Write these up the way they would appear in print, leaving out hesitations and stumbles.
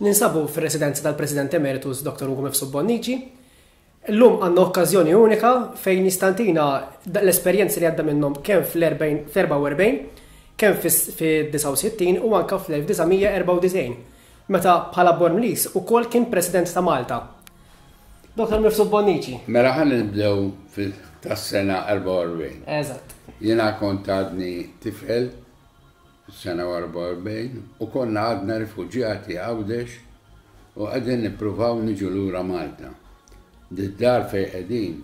Ninsabu fir-residenza tal-President Emeritus Dr. Ugo Mifsud Bonnici. Illum għandna okkażjoni unika fejn jistantina l-esperjenzi li għadda minnhom kemm fl-44, kemm fis-69 u anka fl-1994, meta bħala Bormliż ukoll kien President ta' Malta. Dr. Mifsud Bonnici. Mela ħa nibdew tas-sena 44. Eżatt. Jiena kont għadni tifel fis-sena 44 u konna għadna rifuġjati Għawdex u qegħdin nippruvaw niġu lura Malta. Did-dar fejn qegħdin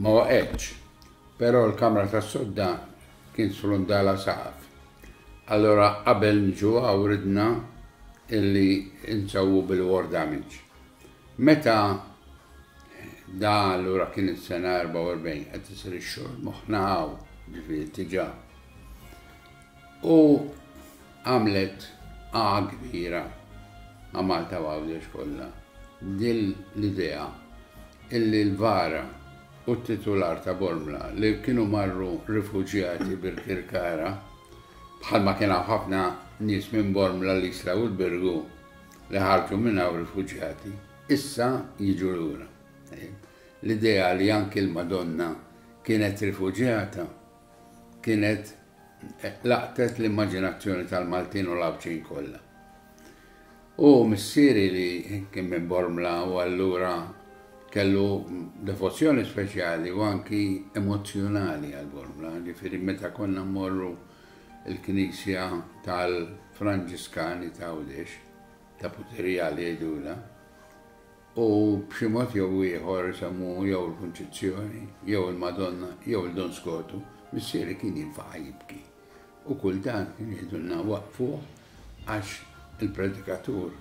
ma waqgħetx, però l-kamra tas-sodda kien sfrundalha saqaf. Allura qabel niġu hawn ridna illi nsewwu bil-war damage. Meta da allura kien is-sena 44 qed isir ix-xogħol moħħna hawn, ġifieri diġà. U għamlet għagħa kbira ma' Malta u Għawdex kollha din l-idea illi l-vara u t-titular ta' Bormla li kienu marru rifuġjati Birkirkara, bħalma kien hawn ħafna nies minn Bormla l-Isla u l-Birgu li ħarġu minn hawn rifuġjati, issa jiġu lura. L-idea li anki l-Madonna kienet rifuġjata kienet laqtet l-immaġinazzjoni tal-Maltin u l-Għawdxin kollha. U missieri li kien minn Bormla u allura kellu devozzjoni speċjali u anki emozzjonali għal Bormla, ġifieri meta konna mmorru l-knisja tal-Franġiskani ta' Għawdex, ta' Putirija li jgħidulha, U b'xi mod jew ieħor isemmu jew il-Kunċizzjoni, jew il-Madonna, jew il-Don Skotu, missieri kien jinfaqa' jibki. U kultant kien jgħidulna waqqfuh għax il-predikatur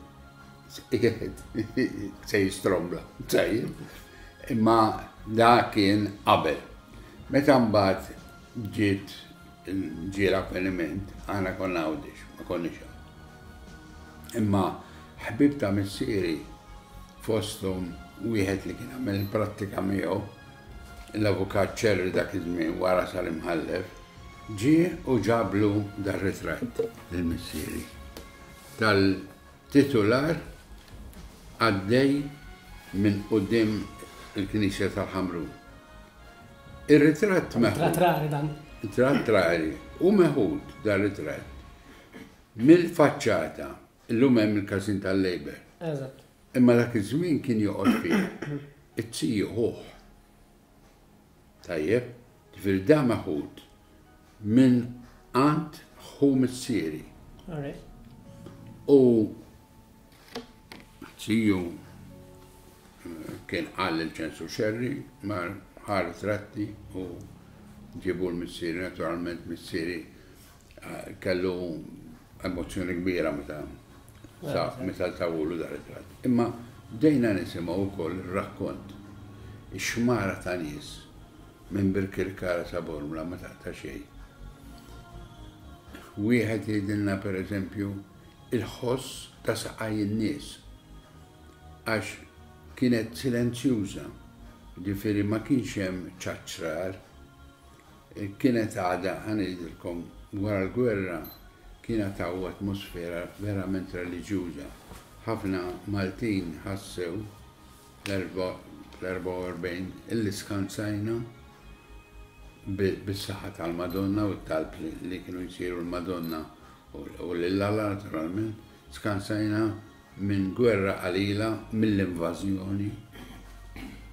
qiegħed se jistrombla. Tajjeb. Imma da kien qabel. Meta mbagħad ġiet ġie l-avveniment, aħna konna Għawdex, ma konniex hawn. Imma ħbieb ta' missieri, fosthom wieħed li kien għamel il-prattika miegħu, l-Avukat Ċerri dak iż-żmien wara sar imħallef, ġie u ġablu dar-ritratt lil missieri tal-titular għaddej minn quddiem il-Knisja tal-Ħamrun. Ir-ritratt meħud. Ritratt rari dan. Ritratt rari u meħud dar-ritratt Mill-faċċata, illum hemm il-każin tal-Labour. Eżatt. Imma dak iż-żmien kien joqgħod fih it-tiju ħuh. Tajjeb, ġifieri da meħud minn għand ħu missieri. U tiju eh, kien qal il-ċensu xerri, mar ħa ritratti u ġibu l-missieri, naturalment missieri Kellu emozzjoni kbira meta meta tawulu dar ritratt. Imma bdejna nisimgħu wkoll ir-rakkont. Ix-xmara ta' nies minn Birkirkara sa Bormla ma taqta' xejn. Wieħed jgħidilna pereżempju il-ħoss ta' saqaj in-nies għax kienet silenzjuża, ġifieri ma kienx hemm ċaċrar. Kienet għadha, ħa ngħidilkom, wara l-gwerra kienet hawn atmosfera verament reliġjuża. Ħafna Maltin ħassew fl-44 illi skansajna bis-saħħa tal-Madonna u t-talb li kienu jsiru l-Madonna u lil Alla naturalment, skansajna minn gwerra qalila, mill-invażjoni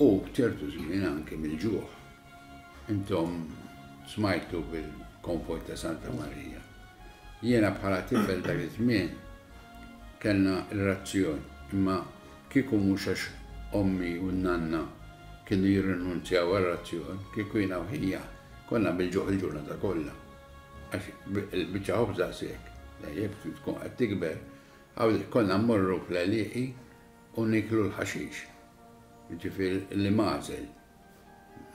u ċertu żmien anke mill-ġuħ. Intom smajtu bil-konvoj ta' Santa Marija. Jiena bħala tifel dak iż-żmien kellna r-razzjon, imma kieku mhux għax ommi u n-nanna kienu jirrinunzjaw għar-razzjon, kieku jiena u ħija konna bil-ġuħ il-ġurnata kollha. Għax il-biċċa ħobż daqshekk, tajjeb, tkun qed tikber. Konna mmorru fl-għelieqi u nieklu l-ħaxix, jiġifieri l-imgħażel.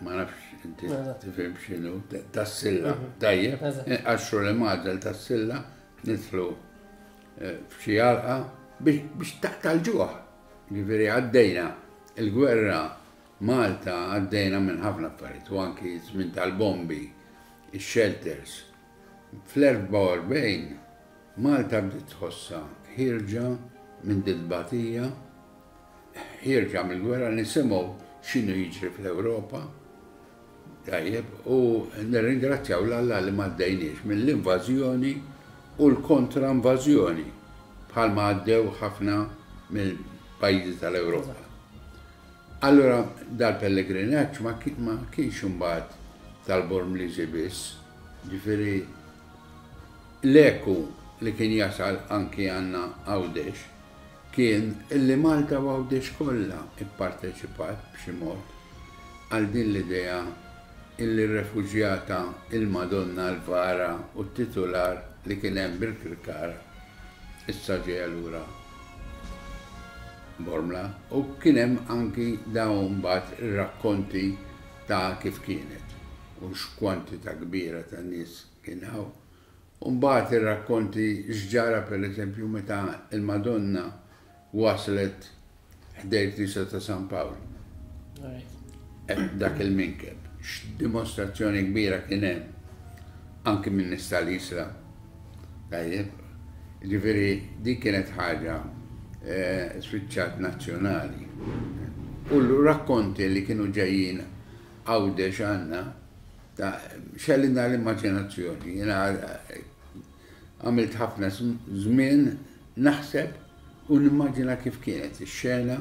Ma nafx inti tifhem x'inhu tas-silla. Mhm. Tajjeb, inqaxxru li mażel tas-silla, nidħlu eh, f'xi għalqa biex taqta' l-ġuħ. Ġifieri għaddejna il-gwerra Malta għaddejna minn ħafna affarijiet u anki żmien tal-bombi, ix-shelters. Fl-44 Malta bdiet tħossha ħierġa minn dil-batija, ħierġa mill-gwerra, nisimgħu x'inhu jiġri fl-Ewropa. Tajjeb, u nirringrazzjaw 'l Alla li m'għaddejniex mill-invażjoni u l-kontra-invażjoni bħalma għaddew ħafna mill-pajjiżi tal-Ewropa. Allura dal-pellegrinaġġ ma kienx imbagħad tal-Bormliżi biss, ġifieri l-eku li kien jasal anki għandna Għawdex kien illi Malta u Għawdex kollha pparteċipat b'xi mod għal din l-idea illi r-refuġjata, il-Madonna, l-vara u t-titular li kien hemm bil-Kirkara issa ġejja lura Bormla u kien hemm anki dawn mbagħad ir-rakkonti ta' kif kienet u x'kwantità kbira ta' nies kien hawn. U mbagħad ir-rakkonti x'ġara pereżempju meta l-Madonna waslet ħdejn il-Knisja ta' San Pawl. Dak il-minkeb. X'dimostrazzjoni kbira kien hemm anki minn nies tal-Isla. Tajjeb, ġifieri dik kienet ħaġa eh, spiċċat nazzjonali. U l-rakkonti li kienu ġejjin Għawdex għandna ta' xellina l-immaġinazzjoni. Jiena eh, għamilt ħafna żmien naħseb u nimmaġina kif kienet ix-xena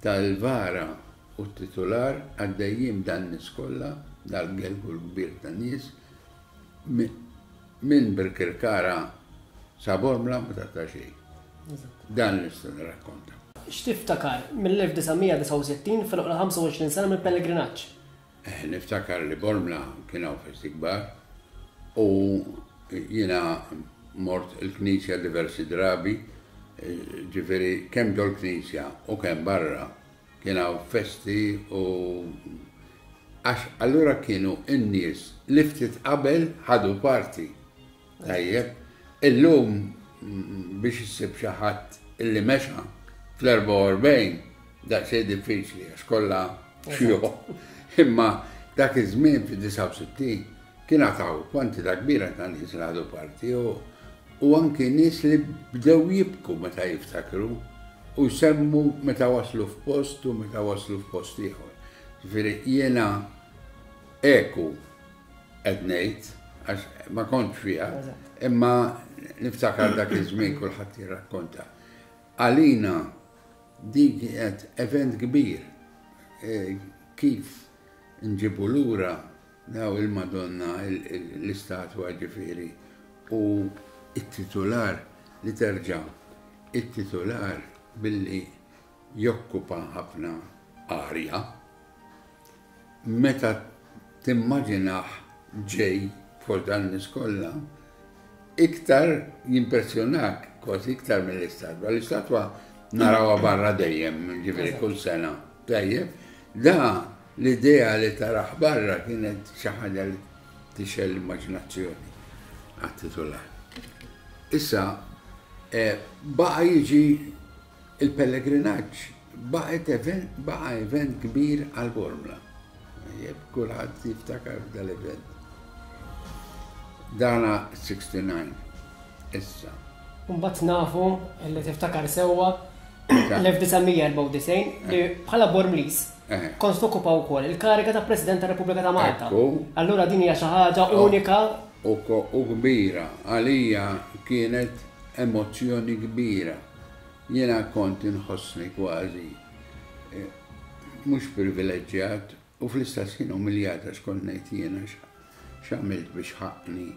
tal-vara u t-titular għaddejjin dan nies kollha, dal-gelgu l-kbir ta' nies, minn Birkirkara sa Bormla ma taqta' xejn. Dan nista' nirrakkonta. X'tiftakar mill-1969 fil-oqra 25 sena mill-pellegrinaġġ? Eh, niftakar li Bormla kien hawn festi kbar u jiena mort il-knisja diversi drabi, eh, ġifieri kemm ġol knisja u kemm barra kien hawn festi u għax allura kienu n-nies li ftit qabel ħadu parti. Tajjeb, illum biex issib xi ħadd illi mexa fl-44 daqsxejn diffiċli għax kollha xjuħ. Imma dak iż-żmien fid-69 kien għataw kwantità kbira ta' nies li ħadu parti u u anki nies li bdew jibku meta jiftakru u jsemmu meta waslu f'post u meta waslu f'post ieħor. Ġifieri jiena eku qed ngħid għax ma kontx fiha, imma niftakar dak iż-żmien kulħadd jirrakkonta. Għalina din kienet event kbir e, kif nġibu lura daw il-Madonna l-istatwa ġifieri u it-titular li terġa' it-titular billi jokkupa ħafna arja Meta timmaġinah ġej fost dan nies kollha, iktar jimpressjonak kważi iktar mill-istatwa. L-istatwa narawha barra dejjem, ġifieri kull sena. Tajjeb, da l-idea li taraħ barra kienet xi ħaġa li tixgħel l-immaġinazzjoni għat-titular. Issa, eh, baqa' jiġi Il-pellegrinaġġ baqgħet event baqa' event kbir għal Bormla. Jeb kulħadd jiftakar dal-event. Dana 69 issa. Mbagħad nafu li tiftakar sewwa l-1994 li bħala Bormliż kont tokkupa wkoll il-kariga ta' President tar-Repubblika ta' Malta. Allura din hija xi ħaġa unika. U kbira għalija kienet emozzjoni kbira. Jiena kont inħossni kważi mhux privileġġjat u fl-istess ħin umiljat għax kont ngħid jiena x'għamilt biex ħaqqni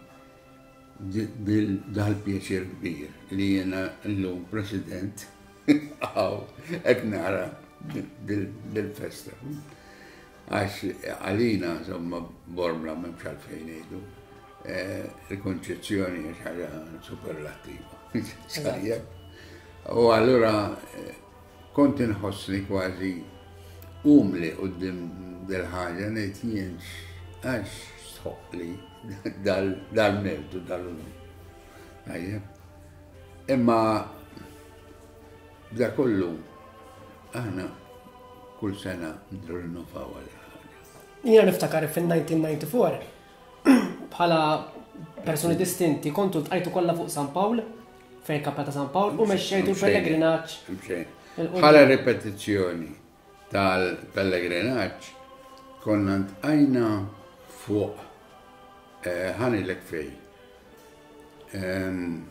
dal-pjaċir kbir li jiena llum President hawn qed nara dil-festa. Għax għalina, insomma, Bormla m'hemmx għalfejn ngħidu. Eh, il-konċezzjoni hija xi ħaġa superlattiva. Sajjeb. U allura eh, kont inħossni kważi umli qudiem dil-ħaġa ngħid jien għax sħoqli dal-mertu dal-unur. Tajjeb. Imma da kollu aħna kull sena nrinnovaw għal ħaġa. Jiena niftakar fil-1994 bħala persuni distinti kontu ltqajtu kollha fuq San Pawl. fejn il-Kappella ta' San Pawl u mexxejtu l-pellegrinaġġ. Mxejn. Bħala ripetizzjoni tal-pellegrinaġġ konna ntqajna fuq eh, ħanilek fej. Ehm,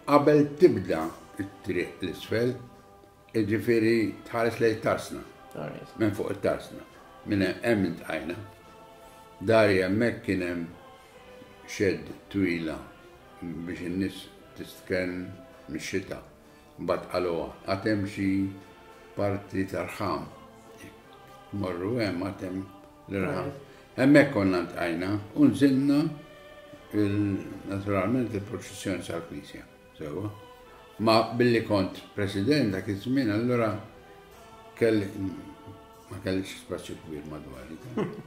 qabel tibda it-triq l-isfel, Jiġifieri tħares lejn it-tarsna. Minn fuq it-tarsna. Minn hemm intqajna. Dari hemmhekk kien hemm xedd twila biex in-nies tistkenn mix-xita. Mbagħad qaluha, għad hemm xi parti ta' rħam. Morru hemm għad hemm l-irħam. Hemmhekk konna ntqajna u nżilna naturalment il-proċessjoni sal-knisja. Sewwa. Ma billi kont president dak iż-żmien allura kelli ma kellix spazju kbir madwari.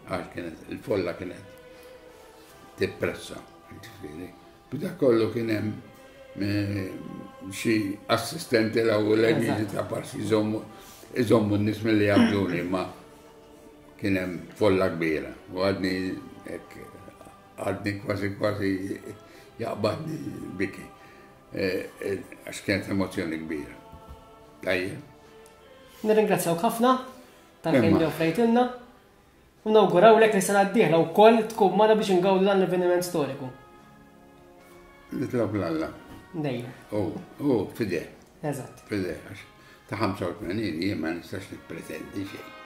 Għax kienet il-folla kienet tippressa, ġifieri. B'da kollu kien hemm eh, xi assistenti l-ewwel ta' parsi jżommu iżommu n-nies milli jabduni, ma kien hemm folla kbira u għadni hekk Għadni kważi kważi jaqbadni biki. Eh, eh, għax kienet emozjoni kbira. Tajjeb. Nirringrazzjawk ħafna tal-ħin li offrejtilna u nawgurawlek li sena d-dieħla wkoll tkun magħna biex ingawdu dan l-avveniment storiku. Nitlob l-Alla. Dejjem. U, u, fideh. Eżatt. Fideh, għax ta' 85 jien ma nistax nippretendi xejn.